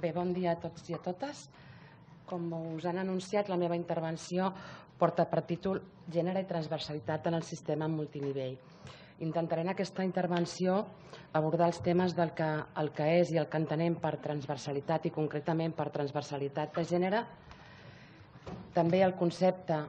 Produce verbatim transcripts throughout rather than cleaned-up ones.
Bé, bon dia a tots i a totes. Com us han anunciat, la meva intervenció porta per títol Gènere i transversalitat en el sistema multinivell. Intentaré en aquesta intervenció abordar els temes del que, el que és i el que entenem per transversalitat i concretament per transversalitat de gènere, també el concepte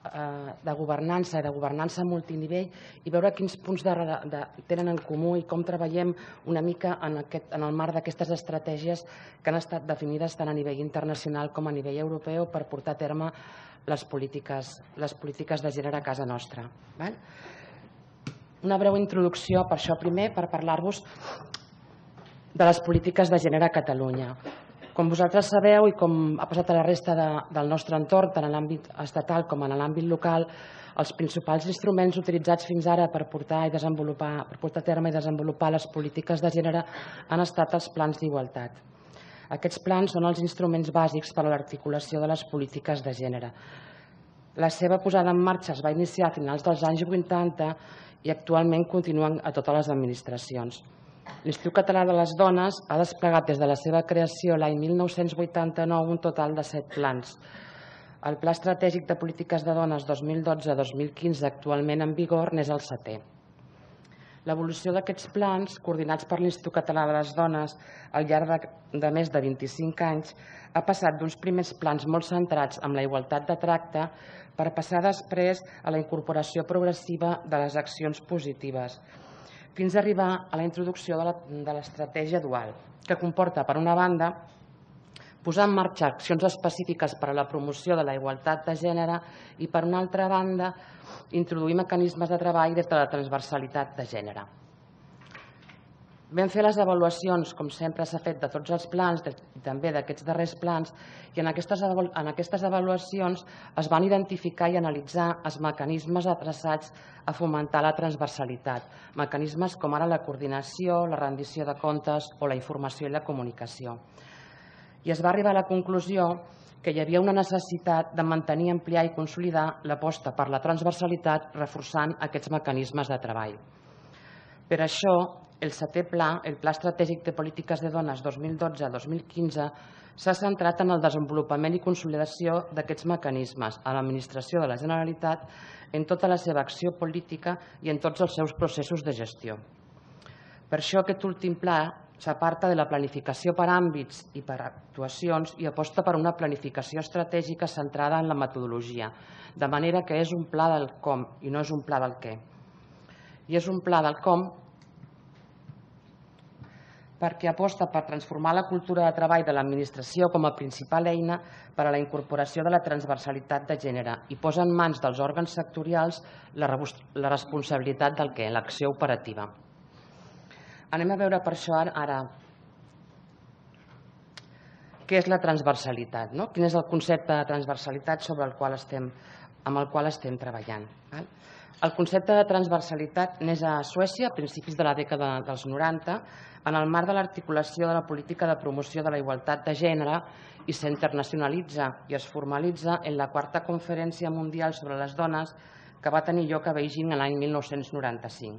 de governança i de governança multinivell i veure quins punts de, de, tenen en comú i com treballem una mica en, aquest, en el marc d'aquestes estratègies que han estat definides tant a nivell internacional com a nivell europeu per portar a terme les polítiques, les polítiques de gènere a casa nostra. Val? Una breu introducció, per això primer, per parlar-vos de les polítiques de gènere a Catalunya. Com vosaltres sabeu i com ha passat a la resta de, del nostre entorn, tant en l'àmbit estatal com en l'àmbit local, els principals instruments utilitzats fins ara per portar, i desenvolupar, per portar a terme i desenvolupar les polítiques de gènere han estat els plans d'igualtat. Aquests plans són els instruments bàsics per a l'articulació de les polítiques de gènere. La seva posada en marxa es va iniciar a finals dels anys vuitanta i actualment continuen a totes les administracions. L'Institut Català de les Dones ha desplegat des de la seva creació l'any mil nou-cents vuitanta-nou un total de set plans. El Pla Estratègic de Polítiques de Dones dos mil dotze a dos mil quinze actualment en vigor n'és el setè. L'evolució d'aquests plans, coordinats per l'Institut Català de les Dones al llarg de, de més de vint-i-cinc anys, ha passat d'uns primers plans molt centrats en la igualtat de tracte per passar després a la incorporació progressiva de les accions positives, fins a arribar a la introducció de l'estratègia dual, que comporta, per una banda, posar en marxa accions específiques per a la promoció de la igualtat de gènere i, per una altra banda, introduir mecanismes de treball des de la transversalitat de gènere. Vam fer les avaluacions, com sempre s'ha fet, de tots els plans i també d'aquests darrers plans, i en aquestes, en aquestes avaluacions es van identificar i analitzar els mecanismes adreçats a fomentar la transversalitat, mecanismes com ara la coordinació, la rendició de comptes o la informació i la comunicació. I es va arribar a la conclusió que hi havia una necessitat de mantenir, ampliar i consolidar l'aposta per la transversalitat reforçant aquests mecanismes de treball. Per això, el setè pla, el Pla Estratègic de Polítiques de Dones dos mil dotze a dos mil quinze, s'ha centrat en el desenvolupament i consolidació d'aquests mecanismes a l'administració de la Generalitat en tota la seva acció política i en tots els seus processos de gestió. Per això aquest últim pla s'aparta de la planificació per àmbits i per actuacions i aposta per una planificació estratègica centrada en la metodologia, de manera que és un pla del com i no és un pla del què. I és un pla del com perquè aposta per transformar la cultura de treball de l'administració com a principal eina per a la incorporació de la transversalitat de gènere i posa en mans dels òrgans sectorials la responsabilitat del què, l'acció operativa. Anem a veure per això ara què és la transversalitat, no? Quin és el concepte de transversalitat sobre el qual estem, amb el qual estem treballant. El concepte de transversalitat neix a Suècia a principis de la dècada dels noranta en el marc de l'articulació de la política de promoció de la igualtat de gènere i s'internacionalitza i es formalitza en la quarta conferència mundial sobre les dones que va tenir lloc a Beijing l'any mil nou-cents noranta-cinc,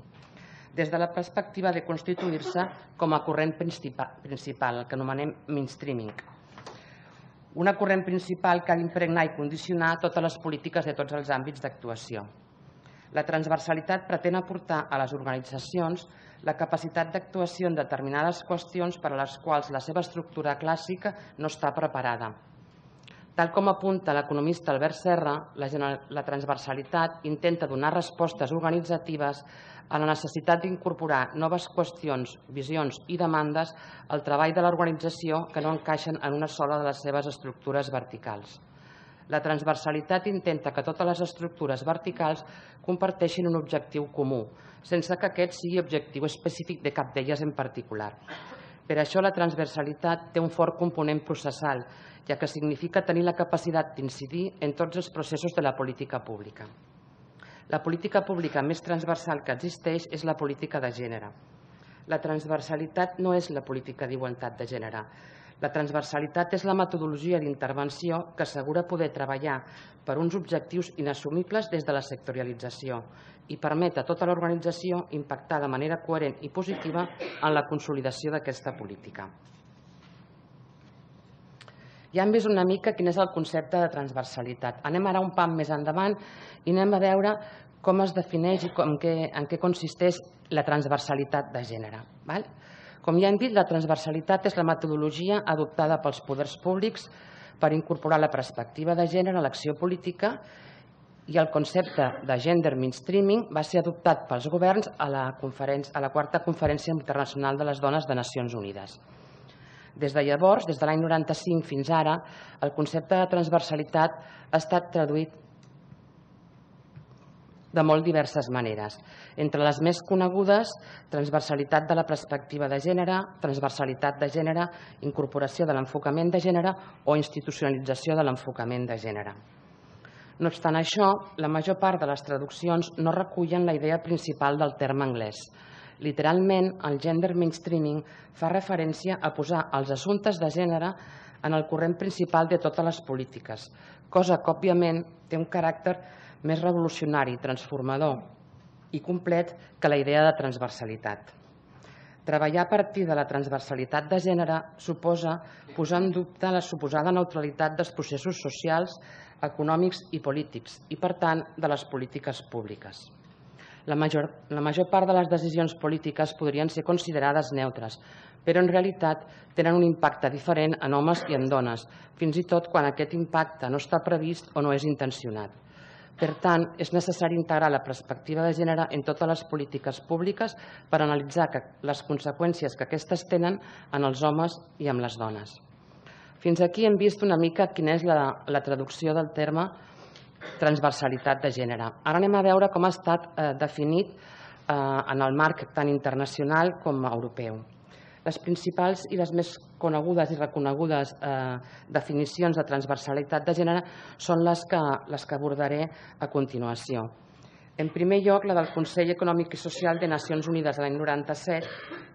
des de la perspectiva de constituir-se com a corrent principal, el que anomenem mainstreaming. Una corrent principal que ha d'impregnar i condicionar totes les polítiques de tots els àmbits d'actuació. La transversalitat pretén aportar a les organitzacions la capacitat d'actuació en determinades qüestions per a les quals la seva estructura clàssica no està preparada. Tal com apunta l'economista Albert Serra, la transversalitat intenta donar respostes organitzatives a la necessitat d'incorporar noves qüestions, visions i demandes al treball de l'organització que no encaixen en una sola de les seves estructures verticals. La transversalitat intenta que totes les estructures verticals comparteixin un objectiu comú, sense que aquest sigui objectiu específic de cap d'elles en particular. Per això la transversalitat té un fort component processal, ja que significa tenir la capacitat d'incidir en tots els processos de la política pública. La política pública més transversal que existeix és la política de gènere. La transversalitat no és la política d'igualtat de gènere. La transversalitat és la metodologia d'intervenció que assegura poder treballar per uns objectius inassumibles des de la sectorialització i permet a tota l'organització impactar de manera coherent i positiva en la consolidació d'aquesta política. Ja hem vist una mica quin és el concepte de transversalitat. Anem ara un pam més endavant i anem a veure com es defineix i en què consisteix la transversalitat de gènere. Com ja hem dit, la transversalitat és la metodologia adoptada pels poders públics per incorporar la perspectiva de gènere a l'acció política, i el concepte de gender mainstreaming va ser adoptat pels governs a la quarta Conferència Internacional de les Dones de Nacions Unides. Des de llavors, des de l'any noranta-cinc fins ara, el concepte de transversalitat ha estat traduït de molt diverses maneres. Entre les més conegudes, transversalitat de la perspectiva de gènere, transversalitat de gènere, incorporació de l'enfocament de gènere o institucionalització de l'enfocament de gènere. No obstant això, la major part de les traduccions no recullen la idea principal del terme anglès. Literalment, el gender mainstreaming fa referència a posar els assumptes de gènere en el corrent principal de totes les polítiques, cosa que, òbviament, té un caràcter més revolucionari, transformador i complet que la idea de transversalitat. Treballar a partir de la transversalitat de gènere suposa posar en dubte la suposada neutralitat dels processos socials, econòmics i polítics i, per tant, de les polítiques públiques. La major part de les decisions polítiques podrien ser considerades neutres, però en realitat tenen un impacte diferent en homes i en dones, fins i tot quan aquest impacte no està previst o no és intencionat. Per tant, és necessari integrar la perspectiva de gènere en totes les polítiques públiques per analitzar les conseqüències que aquestes tenen en els homes i en les dones. Fins aquí hem vist una mica quina és la traducció del terme transversalitat de gènere. Ara anem a veure com ha estat definit en el marc tant internacional com europeu. Les principals i les més conegudes i reconegudes definicions de transversalitat de gènere són les que abordaré a continuació. En primer lloc, la del Consell Econòmic i Social de Nacions Unides de l'any noranta-set,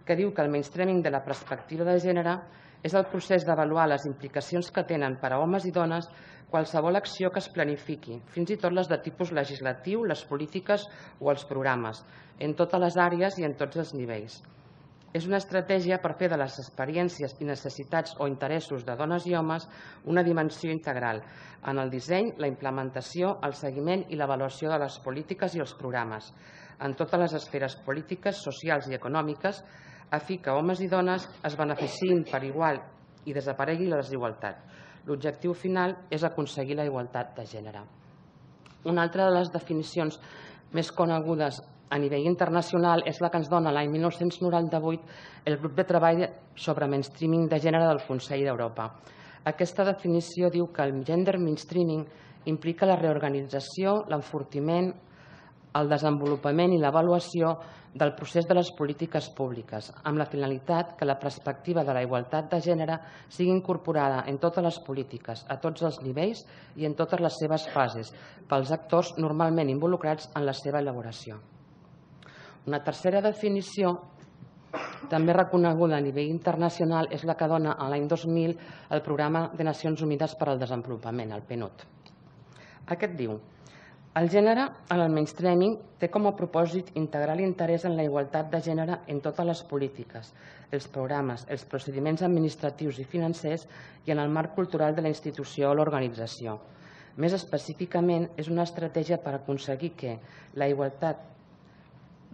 que diu que el mainstreaming de la perspectiva de gènere és el procés d'avaluar les implicacions que tenen per a homes i dones qualsevol acció que es planifiqui, fins i tot les de tipus legislatiu, les polítiques o els programes, en totes les àrees i en tots els nivells. És una estratègia per fer de les experiències i necessitats o interessos de dones i homes una dimensió integral en el disseny, la implementació, el seguiment i l'avaluació de les polítiques i els programes, en totes les esferes polítiques, socials i econòmiques, a fi que homes i dones es beneficiïn per igual i desaparegui la desigualtat. L'objectiu final és aconseguir la igualtat de gènere. Una altra de les definicions més conegudes a nivell internacional és la que ens dona l'any mil nou-cents noranta-vuit el grup de treball sobre mainstreaming de gènere del Consell d'Europa. Aquesta definició diu que el gender mainstreaming implica la reorganització, l'enfortiment, el desenvolupament i l'avaluació del procés de les polítiques públiques, amb la finalitat que la perspectiva de la igualtat de gènere sigui incorporada en totes les polítiques, a tots els nivells i en totes les seves fases, pels actors normalment involucrats en la seva elaboració. Una tercera definició, també reconeguda a nivell internacional, és la que dona l'any dos mil el Programa de Nacions Unides per al Desenvolupament, el P N U D. Aquest diu: el gènere en el mainstreaming té com a propòsit integrar l'interès en la igualtat de gènere en totes les polítiques, els programes, els procediments administratius i financers i en el marc cultural de la institució o l'organització. Més específicament, és una estratègia per aconseguir que la igualtat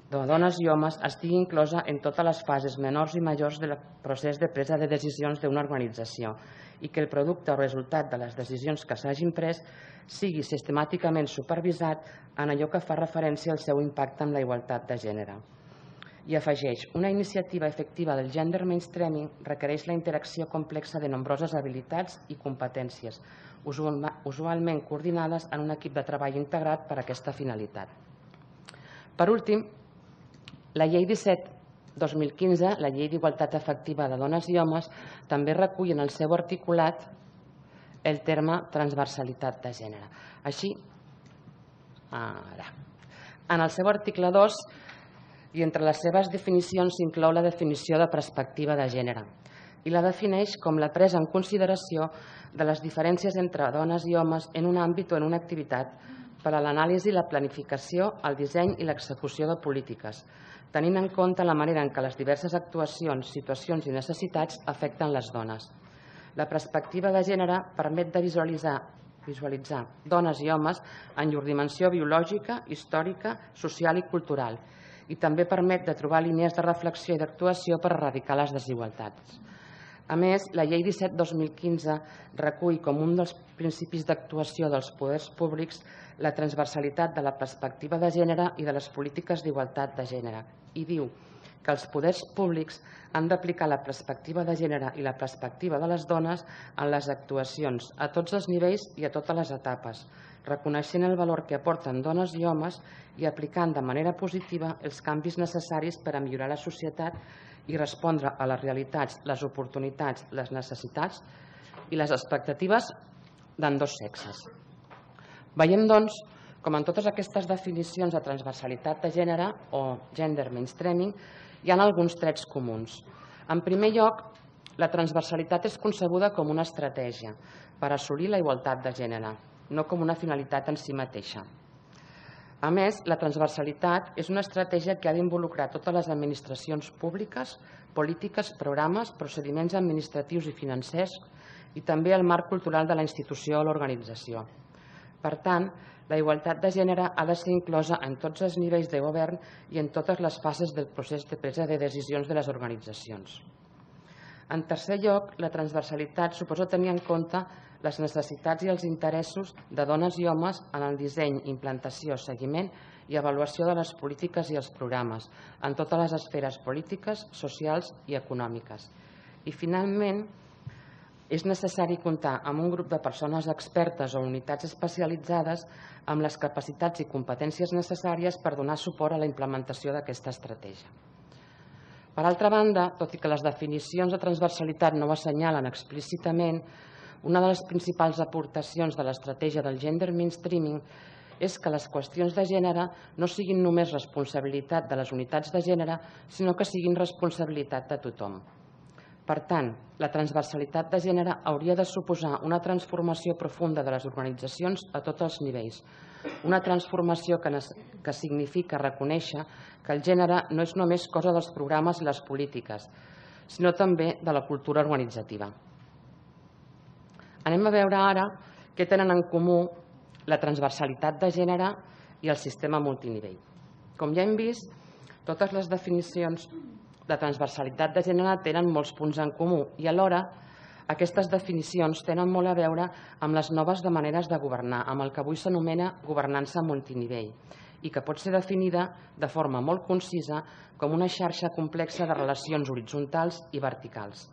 de dones i homes estigui inclosa en totes les fases menors i majors del procés de presa de decisions d'una organització i que el producte o resultat de les decisions que s'hagin pres sigui sistemàticament supervisat en allò que fa referència al seu impacte en la igualtat de gènere. I afegeix: una iniciativa efectiva del gender mainstreaming requereix la interacció complexa de nombroses habilitats i competències, usualment coordinades en un equip de treball integrat per a aquesta finalitat. Per últim, la Llei disset dos mil quinze, la Llei d'Igualtat Efectiva de Dones i Homes, també recull en el seu articulat el terme transversalitat de gènere. Així, ara, en el seu article dos, i entre les seves definicions s'inclou la definició de perspectiva de gènere i la defineix com la presa en consideració de les diferències entre dones i homes en un àmbit o en una activitat per a l'anàlisi, la planificació, el disseny i l'execució de polítiques, tenint en compte la manera en què les diverses actuacions, situacions i necessitats afecten les dones. La perspectiva de gènere permet de visualitzar visualitzar dones i homes en llur dimensió biològica, històrica, social i cultural, i també permet de trobar línies de reflexió i d'actuació per erradicar les desigualtats. A més, la Llei disset dos mil quinze recull com un dels principis d'actuació dels poders públics la transversalitat de la perspectiva de gènere i de les polítiques d'igualtat de gènere i diu que els poders públics han d'aplicar la perspectiva de gènere i la perspectiva de les dones en les actuacions a tots els nivells i a totes les etapes, reconeixent el valor que aporten dones i homes i aplicant de manera positiva els canvis necessaris per a millorar la societat i respondre a les realitats, les oportunitats, les necessitats i les expectatives d'ambdós sexes. Veiem, doncs, com en totes aquestes definicions de transversalitat de gènere o gender mainstreaming hi ha alguns trets comuns. En primer lloc, la transversalitat és concebuda com una estratègia per assolir la igualtat de gènere, no com una finalitat en si mateixa. A més, la transversalitat és una estratègia que ha d'involucrar totes les administracions públiques, polítiques, programes, procediments administratius i financers i també el marc cultural de la institució o l'organització. Per tant, la igualtat de gènere ha de ser inclosa en tots els nivells de govern i en totes les fases del procés de presa de decisions de les organitzacions. En tercer lloc, la transversalitat suposa tenir en compte les necessitats i els interessos de dones i homes en el disseny, implantació, seguiment i avaluació de les polítiques i els programes en totes les esferes polítiques, socials i econòmiques. I, finalment, és necessari comptar amb un grup de persones expertes o unitats especialitzades amb les capacitats i competències necessàries per donar suport a la implementació d'aquesta estratègia. Per altra banda, tot i que les definicions de transversalitat no ho assenyalen explícitament, una de les principals aportacions de l'estratègia del gender mainstreaming és que les qüestions de gènere no siguin només responsabilitat de les unitats de gènere, sinó que siguin responsabilitat de tothom. Per tant, la transversalitat de gènere hauria de suposar una transformació profunda de les organitzacions a tots els nivells, una transformació que significa reconèixer que el gènere no és només cosa dels programes i les polítiques, sinó també de la cultura organitzativa. Anem a veure ara què tenen en comú la transversalitat de gènere i el sistema multinivell. Com ja hem vist, totes les definicions de transversalitat de gènere tenen molts punts en comú i alhora aquestes definicions tenen molt a veure amb les noves maneres de governar, amb el que avui s'anomena governança multinivell i que pot ser definida de forma molt concisa com una xarxa complexa de relacions horitzontals i verticals.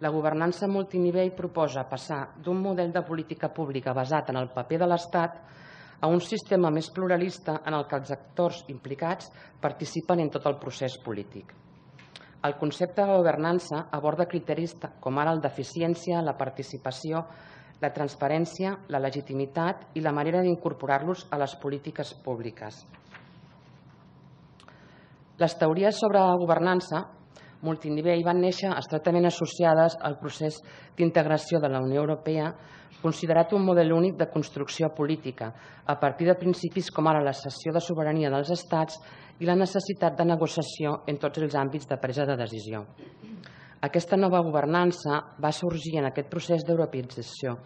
La governança multinivell proposa passar d'un model de política pública basat en el paper de l'Estat a un sistema més pluralista en el que els actors implicats participen en tot el procés polític. El concepte de governança aborda criteris com ara el d'eficiència, la participació, la transparència, la legitimitat i la manera d'incorporar-los a les polítiques públiques. Les teories sobre governança multinivell van néixer estretament associades al procés d'integració de la Unió Europea, considerat un model únic de construcció política, a partir de principis com ara la cessió de sobirania dels estats i la necessitat de negociació en tots els àmbits de presa de decisió. Aquesta nova governança va sorgir en aquest procés d'europeïtzació,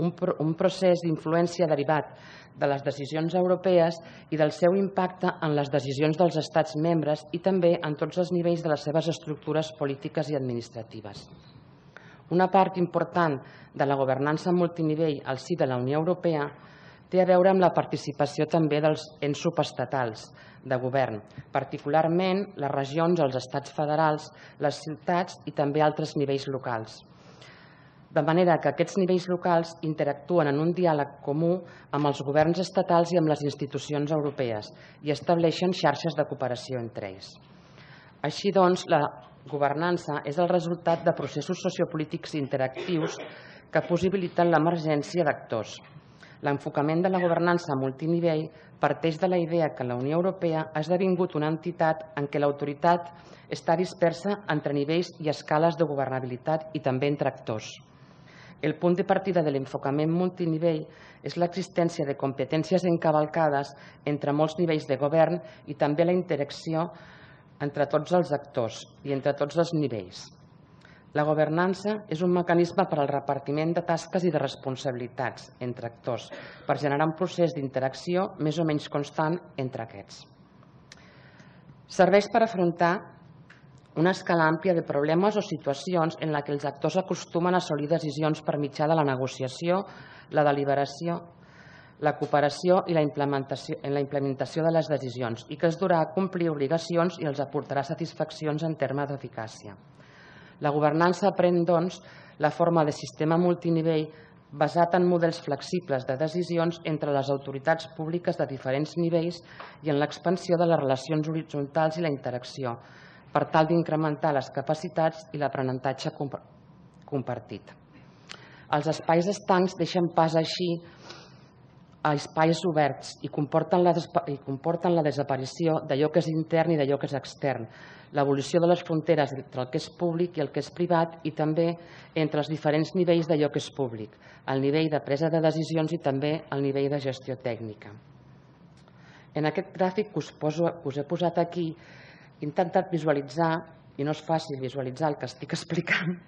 un procés d'influència derivat de les decisions europees i del seu impacte en les decisions dels estats membres i també en tots els nivells de les seves estructures polítiques i administratives. Una part important de la governança multinivell al si de la Unió Europea té a veure amb la participació també dels ens subestatals de govern, particularment les regions, els estats federals, les ciutats i també altres nivells locals. De manera que aquests nivells locals interactuen en un diàleg comú amb els governs estatals i amb les institucions europees i estableixen xarxes de cooperació entre ells. Així doncs, la governança és el resultat de processos sociopolítics interactius que possibiliten l'emergència d'actors. L'enfocament de la governança multinivell parteix de la idea que la Unió Europea ha esdevingut una entitat en què l'autoritat està dispersa entre nivells i escales de governabilitat i també entre actors. El punt de partida de l'enfocament multinivell és l'existència de competències encavalcades entre molts nivells de govern i també la interacció entre tots els actors i entre tots els nivells. La governança és un mecanisme per al repartiment de tasques i de responsabilitats entre actors, per generar un procés d'interacció més o menys constant entre aquests. Serveix per afrontar una escala àmplia de problemes o situacions en què els actors acostumen a assolir decisions per mitjà de la negociació, la deliberació, la cooperació i la implementació, en la implementació de les decisions i que es durà a complir obligacions i els aportarà satisfaccions en termes d'eficàcia. La governança pren, doncs, la forma de sistema multinivell basat en models flexibles de decisions entre les autoritats públiques de diferents nivells i en l'expansió de les relacions horitzontals i la interacció, per tal d'incrementar les capacitats i l'aprenentatge compartit. Els espais estancs deixen pas així a espais oberts i comporten la desaparició d'allò que és intern i d'allò que és extern, l'evolució de les fronteres entre el que és públic i el que és privat i també entre els diferents nivells d'allò que és públic, el nivell de presa de decisions i també el nivell de gestió tècnica. En aquest gràfic que us he posat aquí he intentat visualitzar, i no és fàcil visualitzar el que estic explicant,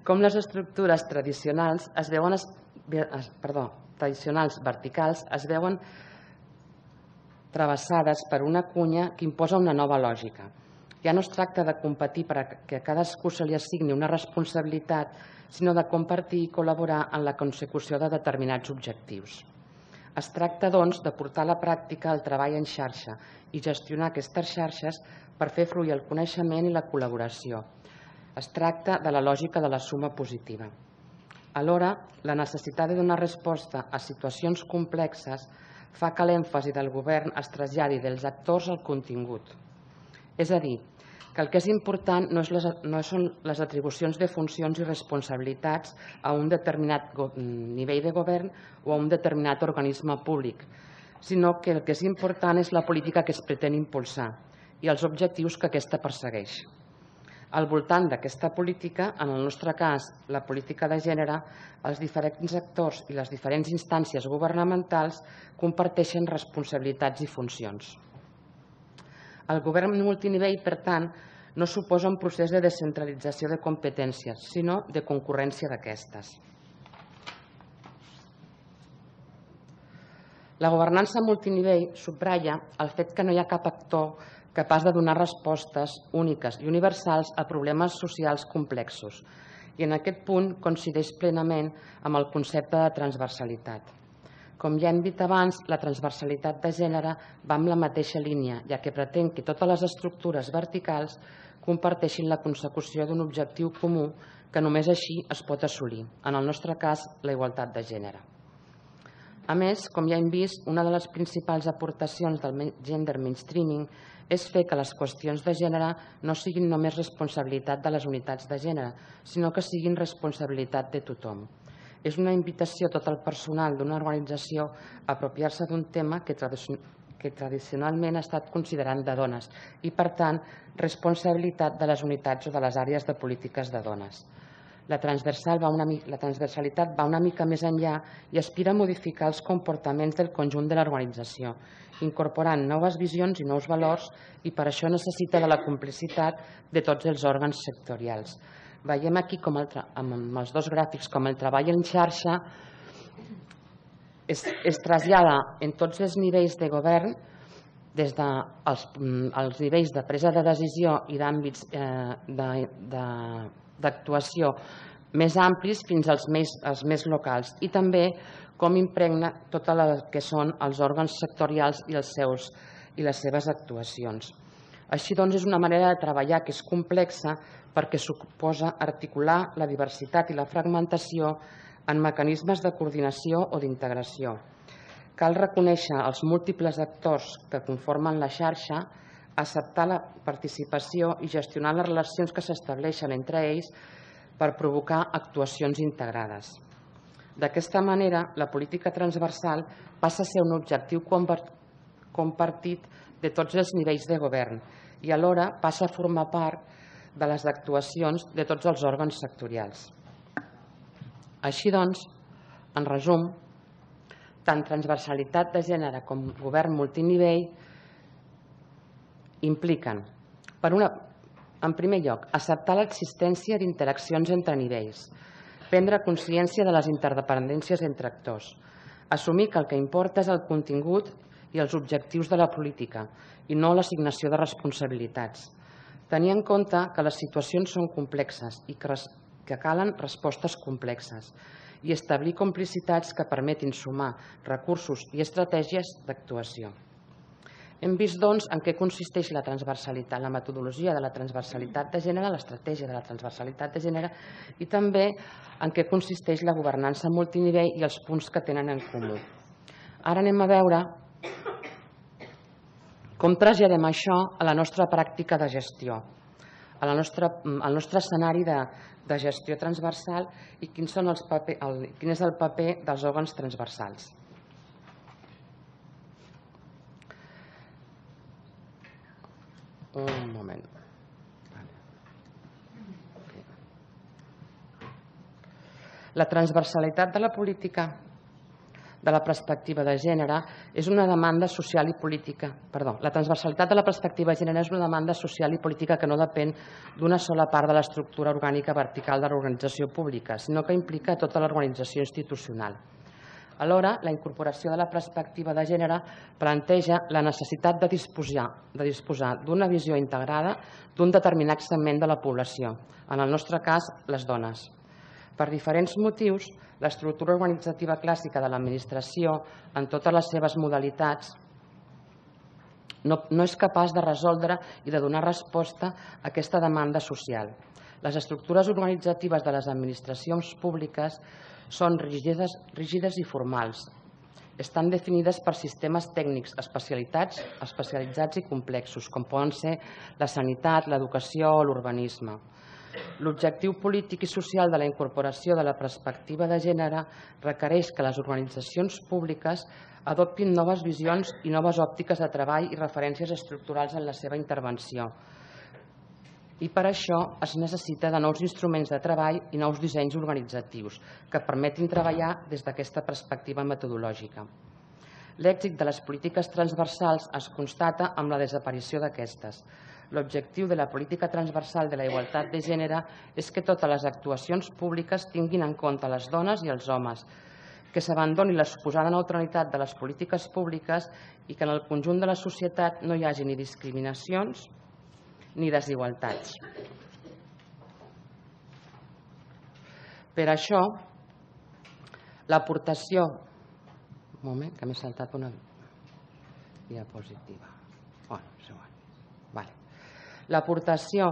com les estructures tradicionals es veuen, perdó, tradicionals verticals es veuen travessades per una cunya que imposa una nova lògica. Ja no es tracta de competir perquè a cadascú se li assigni una responsabilitat, sinó de compartir i col·laborar en la consecució de determinats objectius. Es tracta, doncs, de portar a la pràctica el treball en xarxa i gestionar aquestes xarxes per fer fluir el coneixement i la col·laboració. Es tracta de la lògica de la suma positiva. Alhora, la necessitat de donar resposta a situacions complexes fa que l'èmfasi del govern es traslladi dels actors al contingut. És a dir, que el que és important no són les atribucions de funcions i responsabilitats a un determinat nivell de govern o a un determinat organisme públic, sinó que el que és important és la política que es pretén impulsar i els objectius que aquesta persegueix. Al voltant d'aquesta política, en el nostre cas, la política de gènere, els diferents actors i les diferents instàncies governamentals comparteixen responsabilitats i funcions. El govern multinivell, per tant, no suposa un procés de descentralització de competències, sinó de concurrència d'aquestes. La governança multinivell subratlla el fet que no hi ha cap actor capaç de donar respostes úniques i universals a problemes socials complexos, i en aquest punt coincideix plenament amb el concepte de transversalitat. Com ja hem dit abans, la transversalitat de gènere va en la mateixa línia, ja que pretén que totes les estructures verticals comparteixin la consecució d'un objectiu comú que només així es pot assolir, en el nostre cas, la igualtat de gènere. A més, com ja hem vist, una de les principals aportacions del gender mainstreaming és fer que les qüestions de gènere no siguin només responsabilitat de les unitats de gènere, sinó que siguin responsabilitat de tothom. És una invitació a tot el personal d'una organització a apropiar-se d'un tema que tradicionalment ha estat considerat de dones i, per tant, responsabilitat de les unitats o de les àrees de polítiques de dones. La transversalitat va una mica més enllà i aspira a modificar els comportaments del conjunt de l'organització, incorporant noves visions i nous valors, i per això necessita de la complicitat de tots els òrgans sectorials. Veiem aquí, amb els dos gràfics, com el treball en xarxa es trasllada en tots els nivells de govern, des dels nivells de presa de decisió i d'àmbits d'actuació més amplis fins als més locals, i també com impregna tot el que són els òrgans sectorials i les seves actuacions. Així doncs, és una manera de treballar que és complexa perquè suposa articular la diversitat i la fragmentació en mecanismes de coordinació o d'integració. Cal reconèixer els múltiples actors que conformen la xarxa, acceptar la participació i gestionar les relacions que s'estableixen entre ells per provocar actuacions integrades. D'aquesta manera, la política transversal passa a ser un objectiu compartit de tots els nivells de govern i alhora passa a formar part de les actuacions de tots els òrgans sectorials. Així doncs, en resum, tant transversalitat de gènere com govern multinivell impliquen, per una, En primer lloc, acceptar l'existència d'interaccions entre nivells, prendre consciència de les interdependències entre actors, assumir que el que importa és el contingut i els objectius de la política i no l'assignació de responsabilitats, tenir en compte que les situacions són complexes i que calen respostes complexes i establir complicitats que permetin sumar recursos i estratègies d'actuació. Hem vist, doncs, en què consisteix la transversalitat, la metodologia de la transversalitat de gènere, l'estratègia de la transversalitat de gènere i també en què consisteix la governança multinivell i els punts que tenen en comú. Ara anem a veure com traslladem això a la nostra pràctica de gestió, al nostre escenari de gestió transversal i quin és el paper dels òrgans transversals. Un moment. La transversalitat de la política de la perspectiva de gènere és una demanda social i política. Perdó, la transversalitat de la perspectiva de gènere és una demanda social i política que no depèn d'una sola part de l'estructura orgànica vertical de l'organització pública, sinó que implica tota l'organització institucional. Alhora, la incorporació de la perspectiva de gènere planteja la necessitat de disposar d'una visió integrada d'un determinat segment de la població, en el nostre cas, les dones. Per diferents motius, l'estructura organitzativa clàssica de l'administració, en totes les seves modalitats, no és capaç de resoldre i de donar resposta a aquesta demanda social. Les estructures organitzatives de les administracions públiques són rígides i formals. Estan definides per sistemes tècnics especialitzats i complexos, com poden ser la sanitat, l'educació o l'urbanisme. L'objectiu polític i social de la incorporació de la perspectiva de gènere requereix que les organitzacions públiques adoptin noves visions i noves òptiques de treball i referències estructurals en la seva intervenció. I per això es necessita de nous instruments de treball i nous dissenys organitzatius que permetin treballar des d'aquesta perspectiva metodològica. L'èxit de les polítiques transversals es constata amb la desaparició d'aquestes. L'objectiu de la política transversal de la igualtat de gènere és que totes les actuacions públiques tinguin en compte les dones i els homes, que s'abandoni la suposada neutralitat de les polítiques públiques i que en el conjunt de la societat no hi hagi ni discriminacions ni desigualtats. Per això, l'aportació... Un moment, que m'he saltat una diapositiva. Bueno, és igual. Vale. L'aportació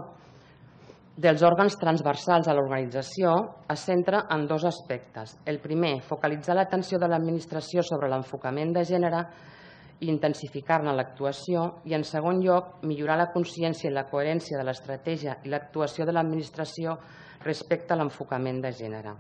dels òrgans transversals a l'organització es centra en dos aspectes. El primer, focalitzar l'atenció de l'administració sobre l'enfocament de gènere i intensificar-ne l'actuació, i en segon lloc, millorar la consciència i la coherència de l'estratègia i l'actuació de l'administració respecte a l'enfocament de gènere.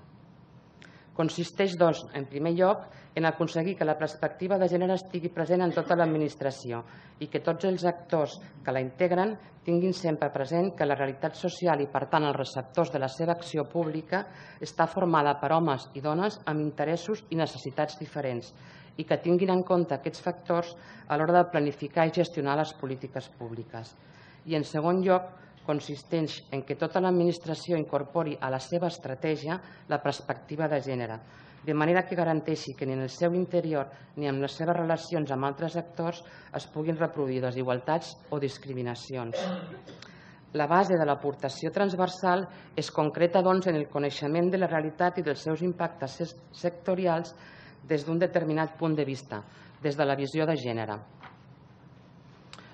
Consisteix, doncs, en primer lloc, en aconseguir que la perspectiva de gènere estigui present en tota l'administració i que tots els actors que la integren tinguin sempre present que la realitat social i, per tant, els receptors de la seva acció pública està formada per homes i dones amb interessos i necessitats diferents i que tinguin en compte aquests factors a l'hora de planificar i gestionar les polítiques públiques. I, en segon lloc, consisteix en que tota l'administració incorpori a la seva estratègia la perspectiva de gènere, de manera que garanteixi que ni en el seu interior ni en les seves relacions amb altres actors es puguin reproduir desigualtats o discriminacions. La base de l'aportació transversal es concreta, doncs, en el coneixement de la realitat i dels seus impactes sectorials des d'un determinat punt de vista, des de la visió de gènere.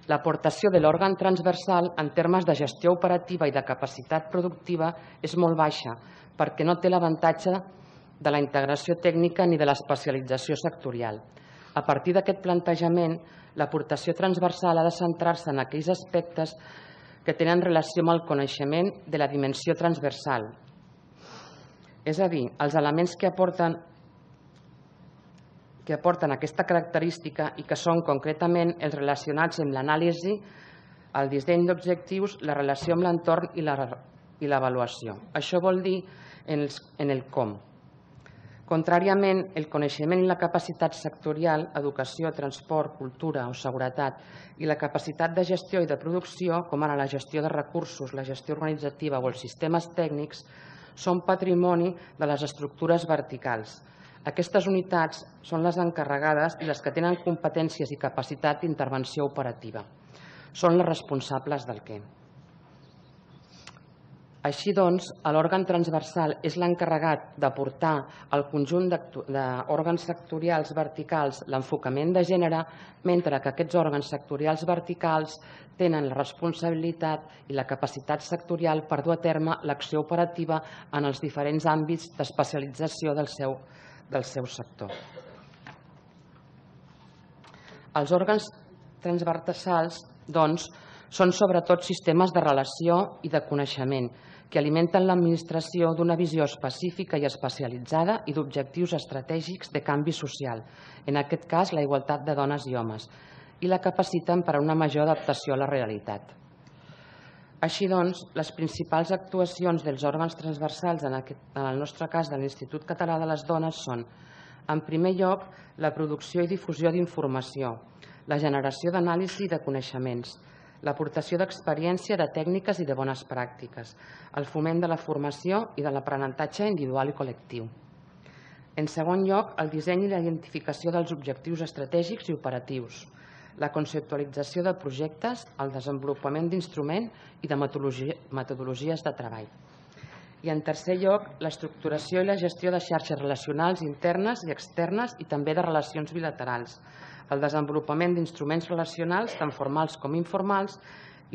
L'aportació de l'òrgan transversal en termes de gestió operativa i de capacitat productiva és molt baixa perquè no té l'avantatge de la integració tècnica ni de l'especialització sectorial. A partir d'aquest plantejament, l'aportació transversal ha de centrar-se en aquells aspectes que tenen relació amb el coneixement de la dimensió transversal. És a dir, els elements que aporten que aporten aquesta característica i que són concretament els relacionats amb l'anàlisi, el disseny d'objectius, la relació amb l'entorn i l'avaluació. Això vol dir en el com. Contràriament, el coneixement i la capacitat sectorial, educació, transport, cultura o seguretat, i la capacitat de gestió i de producció, com ara la gestió de recursos, la gestió organitzativa o els sistemes tècnics, són patrimoni de les estructures verticals. Aquestes unitats són les encarregades i les que tenen competències i capacitat d'intervenció operativa. Són les responsables del què. Així doncs, l'òrgan transversal és l'encarregat d'aportar al conjunt d'òrgans sectorials verticals l'enfocament de gènere, mentre que aquests òrgans sectorials verticals tenen la responsabilitat i la capacitat sectorial per dur a terme l'acció operativa en els diferents àmbits d'especialització del seu, del seu sector. Els òrgans transversals, doncs, són sobretot sistemes de relació i de coneixement que alimenten l'administració d'una visió específica i especialitzada i d'objectius estratègics de canvi social, en aquest cas la igualtat de dones i homes, i la capaciten per a una major adaptació a la realitat. Així doncs, les principals actuacions dels òrgans transversals, en el nostre cas de l'Institut Català de les Dones, són, en primer lloc, la producció i difusió d'informació, la generació d'anàlisi i de coneixements, l'aportació d'experiència, de tècniques i de bones pràctiques, el foment de la formació i de l'aprenentatge individual i col·lectiu. En segon lloc, el disseny i la identificació dels objectius estratègics i operatius, la conceptualització de projectes, el desenvolupament d'instruments i de metodologies de treball. I en tercer lloc, l'estructuració i la gestió de xarxes relacionals internes i externes i també de relacions bilaterals, el desenvolupament d'instruments relacionals tant formals com informals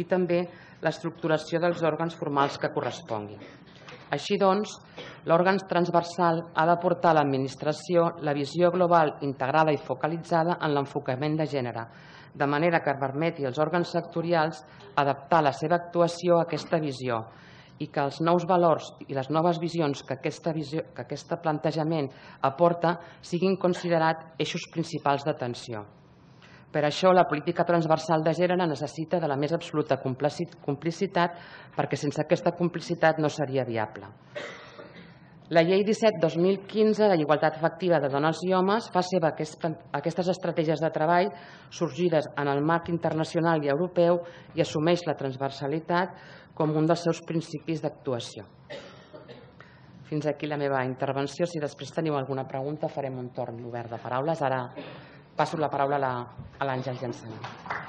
i també l'estructuració dels òrgans formals que corresponguin. Així doncs, l'òrgan transversal ha d'aportar a l'administració la visió global, integrada i focalitzada en l'enfocament de gènere, de manera que permeti als òrgans sectorials adaptar la seva actuació a aquesta visió i que els nous valors i les noves visions que aquest plantejament aporta siguin considerats eixos principals d'atenció. Per això, la política transversal de gènere necessita de la més absoluta complicitat, perquè sense aquesta complicitat no seria viable. La Llei disset dos mil quinze de l'Igualtat Efectiva de Dones i Homes fa seva aquestes estratègies de treball sorgides en el marc internacional i europeu i assumeix la transversalitat com un dels seus principis d'actuació. Fins aquí la meva intervenció. Si després teniu alguna pregunta farem un torn obert de paraules. Ara passo la paraula a l'Àngels Llansana.